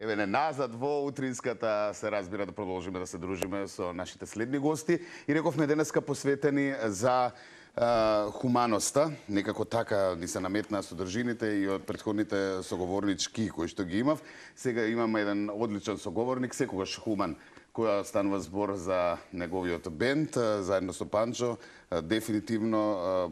Еве не назад во утринската се разбира да продолжиме да се дружиме со нашите следни гости и рековме денеска посветени за хуманоста, некако така ни се наметнаа содржините и од претходните соговорнички кои што ги имав. Сега имаме еден одличен соговорник, секогаш хуман, која станува збор за неговиот бенд, заедно со Панчо, дефинитивно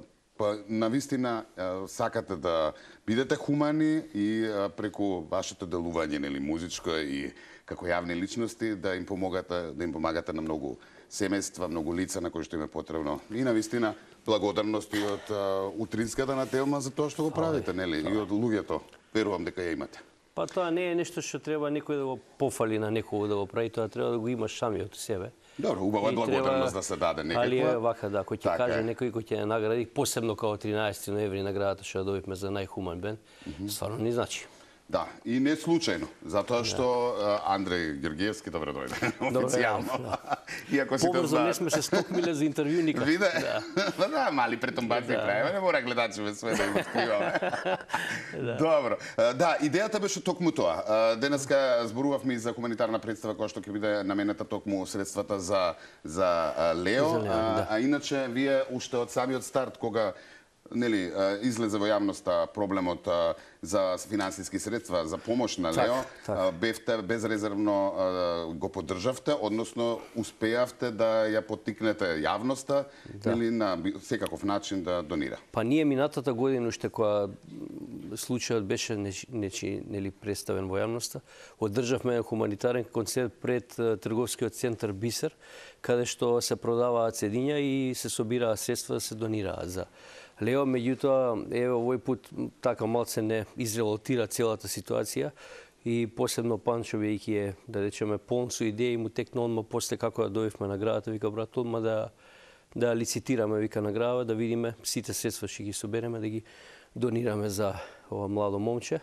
навистина сакате да бидете хумани и преку вашето делување, нели, музичко и како јавни личности да им помагате на многу семејства, многу лица на кои што им е потребно. И навистина благодарност и од утринската на Телма за тоа што го правите, нели, и од луѓето. Верувам дека ја имате. Па тоа не е нешто што треба некој да го пофали на некого да го прави, тоа треба да го имаш самиот себе. Добро, убава е благодарност да се даде некаква. Али е вака, да, кој ќе каже некој кој ќе награди, посебно као 13 ноември наградата што ја добивме за најхуман бенд, стварно ни значи. Да, и не случајно, затоа што Андреј Георгиевски добре дојде, официјално. Иако сите побрзо не сме се стокмиле за интервју никак. Виде? Да, мали претомбаци правиме, не мора гледачеве све да им откриваме. Добро. Да, идејата беше токму тоа. Денеска зборувавме и за хуманитарна представа која што ќе биде наменета токму средствата за Лео, а иначе вие уште од самиот старт кога нели излезе во јавноста проблемот за финансиски средства за помош на Лео, бевте безрезервно го поддржавте, односно успеавте да ја поттикнете јавноста или на секаков начин да донира. Па ние минатата година уште кога случајот беше нели представен во јавноста, одржавме хуманитарен концерт пред трговскиот центар Бисер, каде што се продаваат седиња и се собираат средства да се донираат за Лео. Меѓутоа, еве овој пат така малце не изрелатира целата ситуација и посебно Панчо, вејќи е, да речеме, полн со идеи, му текна одма после како ја добивме наградата, вика брат, одма да лицитираме, вика, награда, да видиме сите средства што ги собереме, да ги донираме за ова младо момче,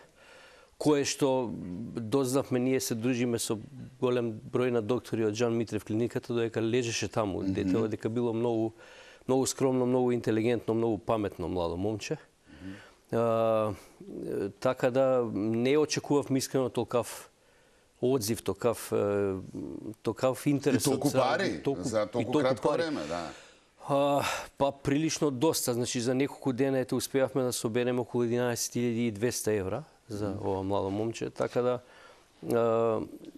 кое што дознавме, ние се дружиме со голем број на доктори од Жан Митрев клиниката, додека лежеше таму детето, дека било многу скромно, многу интелигентно, многу паметно младо момче. Така да не очекувавме искрено толкав одзив, толкав интерес. И толку пари за толку кратко време, да. Па прилично доста, значи за неколку дена успеавме да собереме околу 11.200 евра за ова младо момче, така да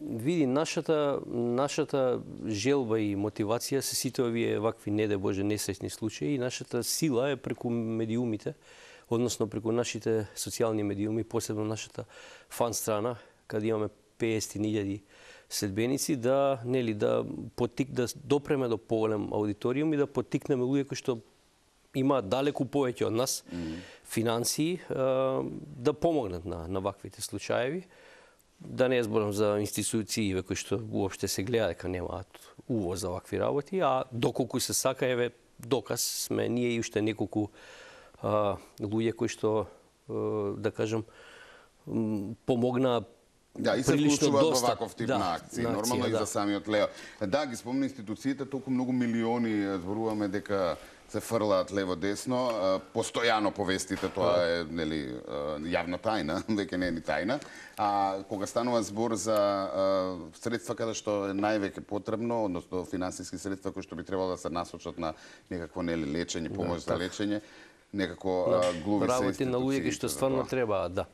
види, нашата желба и мотивација се сите овие вакви, не де Боже, несреќни случаи, и нашата сила е преку медиумите, односно преку нашите социјални медиуми, посебно нашата фан страна, каде имаме 50.000 следбеници, да допреме до поголем аудиториум и да поттикнеме луѓе кои што имаат далеку повеќе од нас финансии, да помогнат на ваквите случаеви. Да не зборам за институции кои што уопште се гледа дека немаат увоз за вакви работи, а доколку се сака, еве доказ сме ние и уште неколку луѓе кои што, да кажам, помогнаа. Да, и се вклучуваат во ваков тип на акции, нормално и за самиот Лео. Да, ги спомна институциите, толку многу милиони зборуваме дека се фрлаат лево-десно, постојано повестите, тоа е, нели, јавна тајна, веќе не е ни тајна. А кога станува збор за средства каде што е највеќе потребно, односно финансиски средства кои што би требало да се насочат на некакво, нели, лечење, помош за лечење, некако глуви се работи на луѓе што стварно требаат, да.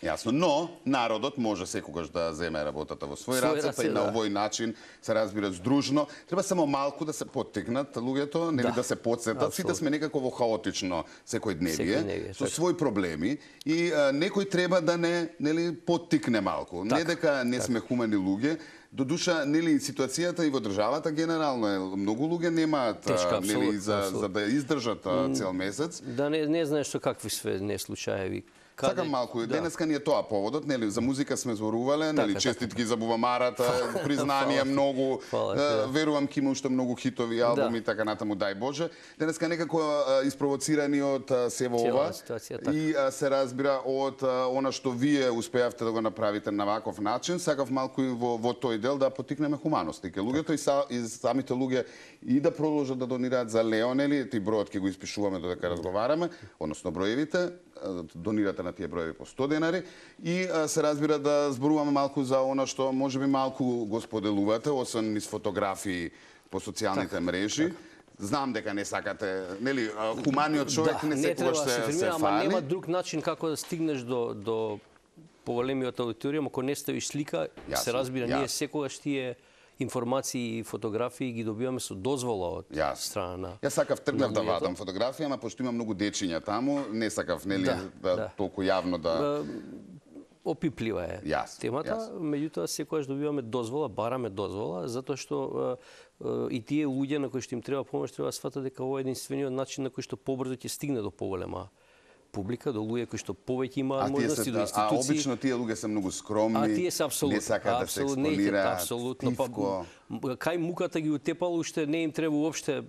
Јасно, но народот може секогаш да земе работата во свој раце, па и на овој начин се разбира здружно. Треба само малку да се поттикнат луѓето, нели, да се потсетат. Сите сме некако во хаотично секојдневие, со своји проблеми и некој треба да нели, поттикне малку. Не дека не сме хумани луѓе, додуша, нели, ситуацијата и во државата генерално е, многу луѓе немаат, нели, за да издржат цел месец. Да не знаеш со какви све не случаеви. Сакам малку, денеска ни е тоа поводот, нели, за музика сме зборувале, нели, честитки за Бувамарата, признанија многу, верувам ке има уште многу хитови албуми и така натаму, дај Боже. Денеска некако испровоцирани од сево ова и се разбира од она што вие успеавте да го направите на ваков начин, сакав малку и во тој дел да поттикнеме хуманост. И луѓето и самите луѓе и да продолжат да донираат за Лео, нели, ти бројот ќе го испишуваме додека разговараме, односно броевите, донирате на на тие броеви по 100 денари и се разбира да зборуваме малку за она што можеби малку го споделувате, освен низ фотографии по социјалните мрежи. Знам дека не сакате, нели, хуманиот човек не секогаш се ама фали. нема друг начин како да стигнеш до поголемиот аудиториум, ако не ставиш слика, се разбира, ние секогаш тие информации и фотографии ги добиваме со дозвола од страна на... Јас сакав тргнав да вадам фотографија, ама пошто има многу дечиња таму, не сакав, нели, толку јавно да... Опиплива е темата, меѓутоа секогаш добиваме дозвола, бараме дозвола, затоа што и тие луѓе на кои што им треба помош треба да сватат дека ова е единствениот начин на кој што побрзо ќе стигне до поголема публика, до луѓе кои што повеќе имаат можности, до институции. А обично тие луѓе се многу скромни, тие се не сакаат да се експонираат, тивко. Кај муката ги утепало, уште не им треба уопште,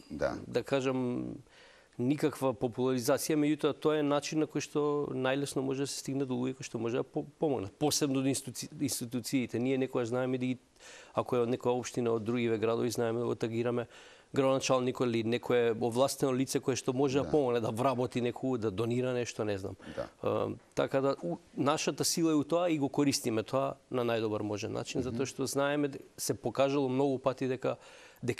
да кажам, никаква популаризација, меѓутоа тоа е начин на кој што најлесно може да се стигне до луѓе кои што може да помогнат, посебно до институциите. Ние некогаш знаеме да ги, ако е од некоја општина од другиве градови, знаеме да го тагираме градоначалникот или некое овластено лице кое што може да помогне да вработи некој, да донира нешто, не знам. Така да нашата сила е у тоа и го користиме тоа на најдобар можен начин, затоа што знаеме, се покажало многу пати дека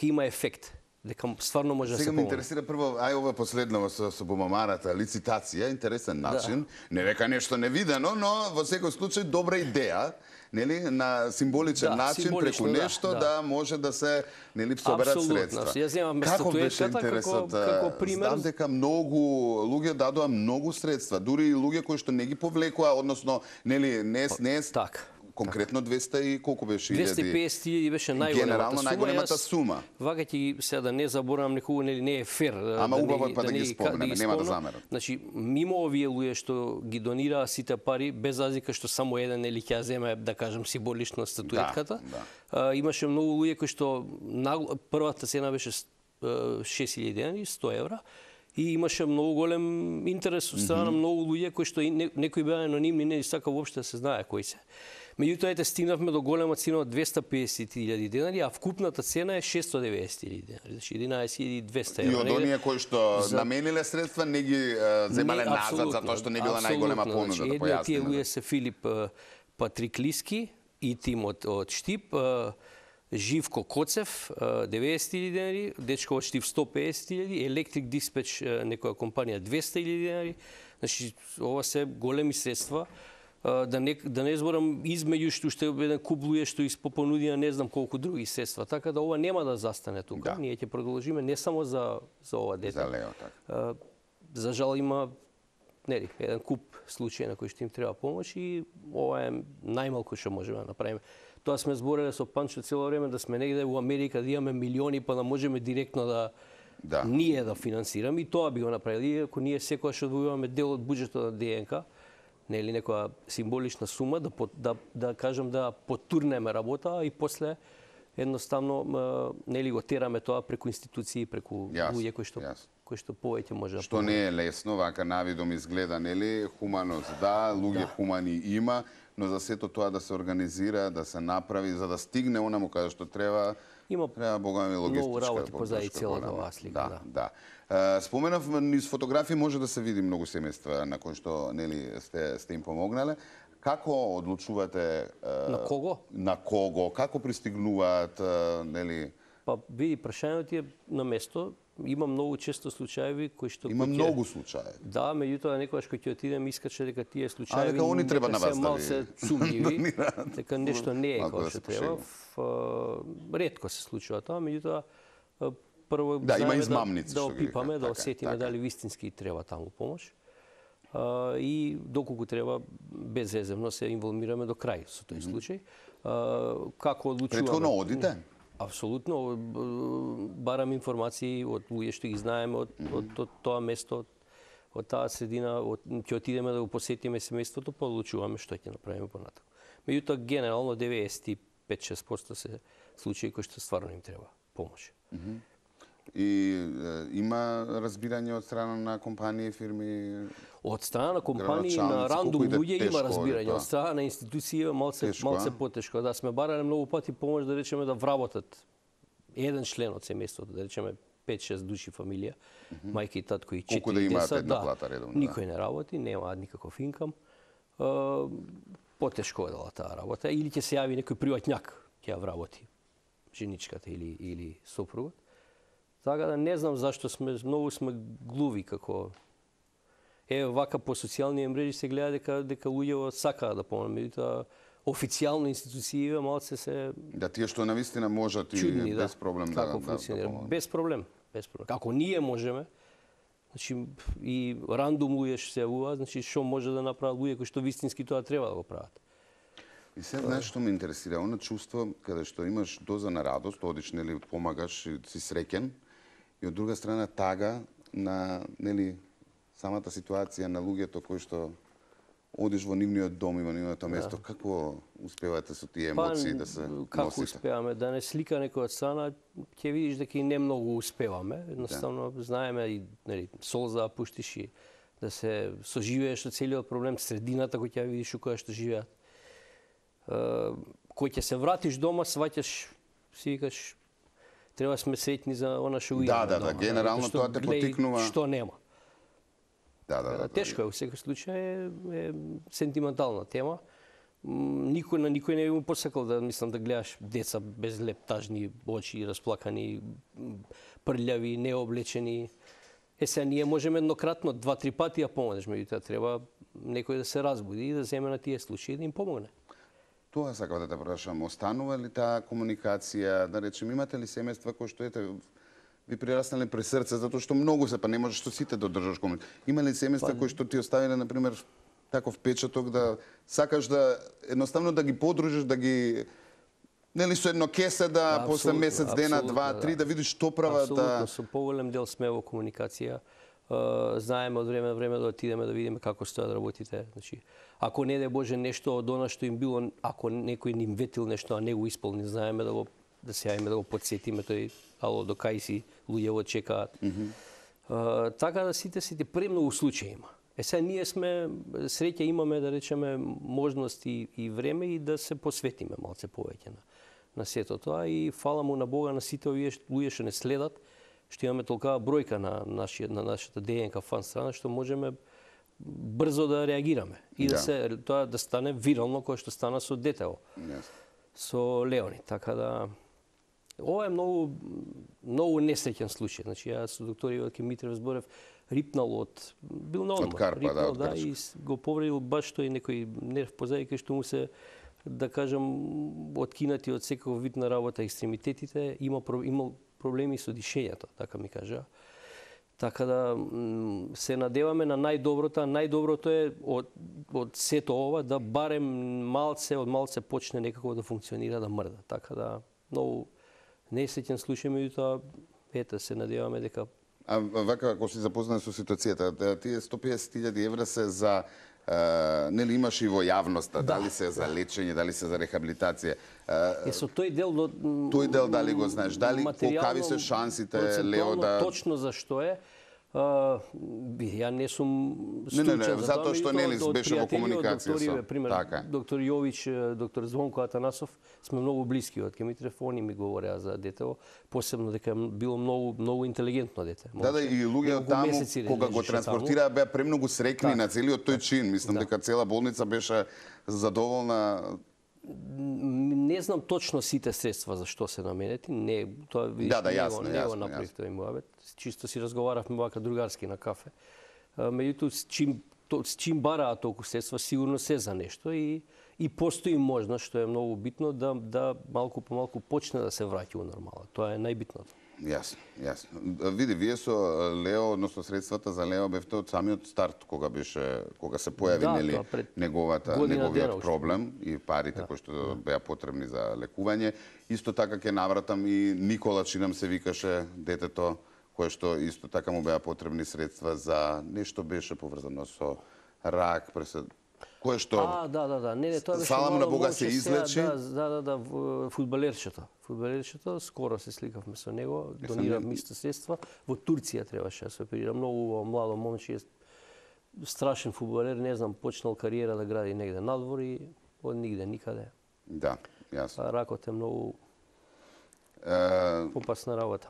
има ефект. Дека стварно може да се помогне. Сега ме интересира прво, ова последно со бумамарата, лицитација, интересен начин. Не века нешто невидено, но во секој случај добра идеја, нели, на символичен начин преку нешто да може да се, нели, соберат средства. Јас земам статуетката како пример. Знам дека многу луѓе дадоа многу средства, дури и луѓе кои што не ги повлекоа, односно, нели, не конкретно 200 и колку беше 250.000 беше најголемата сума. Вака ќе се да не заборавам некогу, нели не е фер. Ама убаво е па да ги спомнеме, нема да замерам. Значи, мимо овие луѓе што ги донираа сите пари, без разлика што само еден или ќе земе, да кажам, символично статуетката, имаше многу луѓе кои што првата цена беше 6.000 денари, 100 евра. И имаше многу голем интерес од страна на многу луѓе кои што некои беа анонимни, не сака воопште да се знае кои се. Меѓутоа, ете, стигнавме до голема цена од 250.000 денари, а вкупната цена е 690.000 денари, значи 11.200 евра. И од оние кои што намениле средства не ги земале назад затоа што не била најголема понуда да појасниме. Тие луѓе се Филип Патриклиски и тим од Штип, Живко Коцев 90.000 денари, дечко од Штип 150.000, Електрик Диспеч некоја компанија 200.000 денари. Значи ова се големи средства. Да не зборам измеѓу што уште еден куп луѓе што испопонудија не знам колку други средства. Така да ова нема да застане тука. Ние ќе продолжиме не само за ова дете. За Лео, така. За жал има еден куп случаи на кои што им треба помош и ова е најмалку што можеме да направиме. Тоа сме збореле со Панчо цело време да сме негде во Америка да имаме милиони па да можеме директно ние да финансираме и тоа би го направили ако ние секогаш одвојуваме дел од буџетот на ДНК, нели некоја символична сума да кажам да потурнеме работа и после едноставно нели го тераме тоа преку институции, преку луѓе кои што повеќе може да што не е лесно, вака навидом изгледа, нели, хуманост луѓе хумани има, но за сето тоа да се организира, да се направи, за да стигне онаму каде што треба богами логистичка многу работи позади целата оваа слика. Споменав, низ фотографии може да се види многу семејства на кои што, нели, сте им помогнале. Како одлучувате на кого? На кого? Како пристигнуваат, нели? Па види, прашањето е на место. Има многу често случаеви кои што многу случаи. Да, меѓутоа некогаш кога ќе отидем искаче дека тие случаи дека они треба на вас да се сумњиви, дека нешто не е како што треба. Ретко се случува тоа, меѓутоа прво има измамници да опипаме, да осетиме дали вистински треба таму помош. И доколку треба безвеземно се инволвираме до крај со тој случај. Како одлучуваме? Претходно одите? Апсолутно, барам информации од луѓе што ги знаеме од тоа место, од таа средина, ќе отидеме да го посетиме семејството, па одлучуваме што ќе направиме понатаку. Меѓутоа, генерално 95-6% се случаи кои што стварно им треба помош. И има разбирање од страна на компании, фирми? Од страна на компании, на рандом луѓе има разбирање. Од страна на институции е малце потешко. Да, сме барале многу пати помош, да речеме, да вработат еден член од семејството, да речеме 5-6 души фамилија, мајка и татко и 4 Колку да имаат деца. една плата редовно, Никој не работи, немаат никаков инкам. Потешко е дала таа работа. Или ќе се јави некој приватњак, ќе ја вработи женичката или сопругот. Така да не знам зашто многу сме глуви како вака по социјални мрежи се гледа дека луѓето сакаат да помогнат, меѓутоа официјално институциите малце се Да, тие што навистина можат и чудни, без проблем како да функционира. помогнат. Без проблем. Како ние можеме, значи и рандом луѓе што се јавуваат, значи што може да направат луѓе кои што вистински тоа треба да го прават. И се знаеш што ме интересира, она чувство каде што имаш доза на радост, одиш нели помагаш и си среќен, и од друга страна тага на нели самата ситуација на луѓето кои што одиш во нивниот дом и во нивното место, како успевате со тие емоции да се како носите? успеваме да не слика некој од страна, ќе видиш дека и не многу успеваме. Едноставно знаеме и нели солза пуштиш и да се соживееш со целиот проблем, средината кој ќе видиш у која што живеат. Кој ќе се вратиш дома, сваќаш, си викаш, треба сме среќни за она што го имаме. Да, генерално тоа те поттикнува. Што нема. Да. Тешко е, во секој случај е сентиментална тема. Никој не би му посакал да да гледаш деца без леп, тажни очи, расплакани, прљави, необлечени. Сега ние можеме еднократно 2-3 пати ја помогнеш, меѓутоа треба некој да се разбуди и да земе на тие случаи и да им помогне. Тоа сакав да те прашам, останува ли таа комуникација, да речем, имате ли семејства кои што ви прираснале при срце, затоа што многу се, па не можеш со сите да одржаш комуникација. Има ли семејства кои што ти оставиле, например, таков печаток да сакаш да едноставно да ги подружиш, да ги нели со едно кесе да после месец дена, 2-3 да видиш што прават. Апсолутно, со поголем дел сме во комуникација. Знаеме од време на време да отидеме да видиме како стојат работите. Значи, ако не дај Боже нешто од она што им било, ако некој им ветил нешто, а не го исполни, знаеме да се јавиме да го потсетиме тој ало до кај си, луѓето чекаат. Така да сите премногу случаи има. Сега ние сме среќа имаме да речеме можност и време и да се посветиме малце повеќе на сето тоа и фала му на Бога на сите овие луѓе што не следат, што имаме толкава бројка на нашата ДНК фан страна што можеме брзо да реагираме и тоа да стане вирално кој што стана со детево. Со Леони, така да ова е многу несреќен случај. Значи ја со доктор Јовке Митрев зборев, рипнал бил на одмор, рипнал, да, и го повредил баш тој некој нерв позади кај што му се да кажам откинати од секој вид на работа екстремитетите, имал проблеми со дишењето, така ми кажа. Така да се надеваме на најдоброто, најдоброто е од сето ова да барем од малце почне некако да функционира, да мрда. Така да многу несреќен случај, меѓутоа ете се надеваме дека А вака ако си запознат со ситуацијата, тие 150.000 евра се за нели имаш и во јавноста, дали се за лечење, дали се за рехабилитација. Со тој дел дали го знаеш, дали колкави се шансите Лео да точно зашто е. Ја не сум стручен за тоа, затоа што нели беше во комуникација со. Пример, доктор Јович, доктор Звонко Атанасов, сме многу блиски од Кемитрев, они ми говореа за детево, посебно дека било многу интелигентно дете. Да, и луѓе од таму кога го транспортираа беа премногу срекни на целиот тој чин, мислам дека цела болница беше задоволна. Не знам точно сите средства за што се наменети, не тоа видиш не го направив тој муабет. Чисто си разговаравме вака другарски на кафе. Меѓутоа чим бараат толку средства, сигурно се за нешто и постои можност, што е многу битно, да малку по малку почне да се враќа у нормала. Тоа е најбитното. Јасно. Види, вие со Лео, односно средствата за Лео бевте од самиот старт, кога се појави нели неговиот проблем и парите кои што беа потребни за лекување. Исто така ќе навратам и Никола, чинам се викаше детето, кое што исто така му беа потребни средства за нешто беше поврзано со рак, кое што не, тоа беше фала му на Бога се излечи. Фудбалерчето, скоро се сликавме со него, донирав исто средства. Во Турција требаше да се оперира, многу младо момче, страшен фудбалер, не знам, почнал кариера да гради негде надвор и од нигде, никаде. Да, јасно. Ракот е многу опасна работа.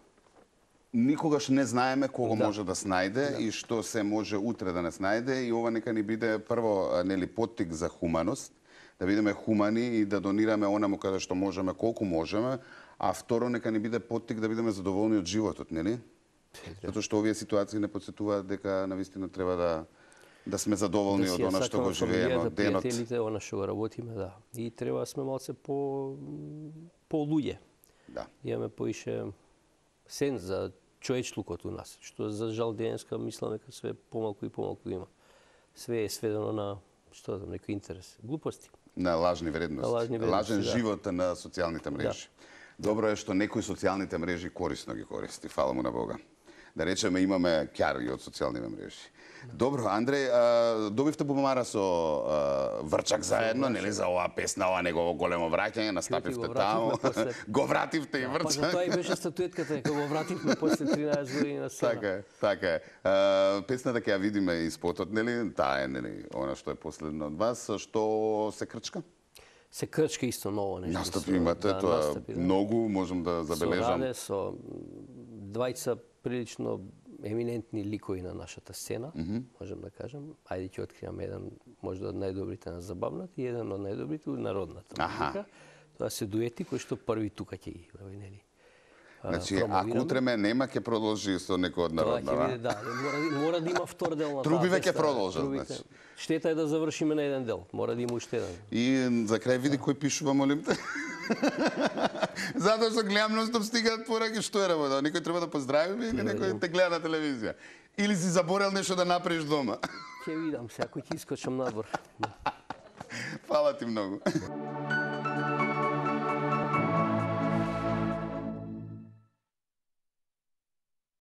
никогаш не знаеме кого може да снајде и што се може утре да не снајде, и ова нека ни биде прво нели поттик за хуманост, да бидеме хумани и да донираме онаму каде што можеме, колку можеме, а второ нека ни биде поттик да бидеме задоволни од животот, нели? Затоа што овие ситуации не потсетуваат дека навистина треба да сме задоволни од она што го живееме, денот. Пријателите, она што го работиме, да. И треба да сме малце по луѓе. Да. Имаме поише сенс за човечлукот у нас, што за жал денеска мислам дека све помалку и помалку има. Све е сведено на што знам, некој интерес, глупости. На лажни вредности. Лажен живот на социјалните мрежи. Добро е што некои социјалните мрежи корисно ги користи, фала му на Бога. Да речеме имаме ќари од социјалните мрежи. Добро, Андреј, добивте бумара со Врчак заедно, нели, за оваа песна, ова негово големо враќање, настапивте таму. Го вративте и Врчак. Па за тоа и беше статуетката, дека го вративме после 13 години на сцена. Така е. Песната ќе ја видиме и спотот, нели, таа е, нели, она што е последно од вас, што се крчка? Се крчка исто ново нешто. Настапи имате, тоа многу, можам да забележам. Со Раде, со двајца прилично еминентни ликови на нашата сцена, можам да кажам. Ајде ќе откријам еден, можда од најдобрите на забавната и еден од најдобрите од народната музика. Тоа се дуети кои што први тука ќе ги, нели. Значи, ако утреме нема, ќе продолжи со некој од народна. Тоа ќе биде, да. Мора да има втор дел на таа. Трубиве ќе продолжат, значи. Штета е да завршиме на еден дел. Мора да има уште еден. И за крај види кој пишува, молим те. Затоа што гледам ностоп стигаат пораки, што е работа? Некој треба да поздравиме или некој те гледа на телевизија? Или си заборел нешто да направиш дома? Ќе видам се, ако ќе искочам надвор. Фала ти многу.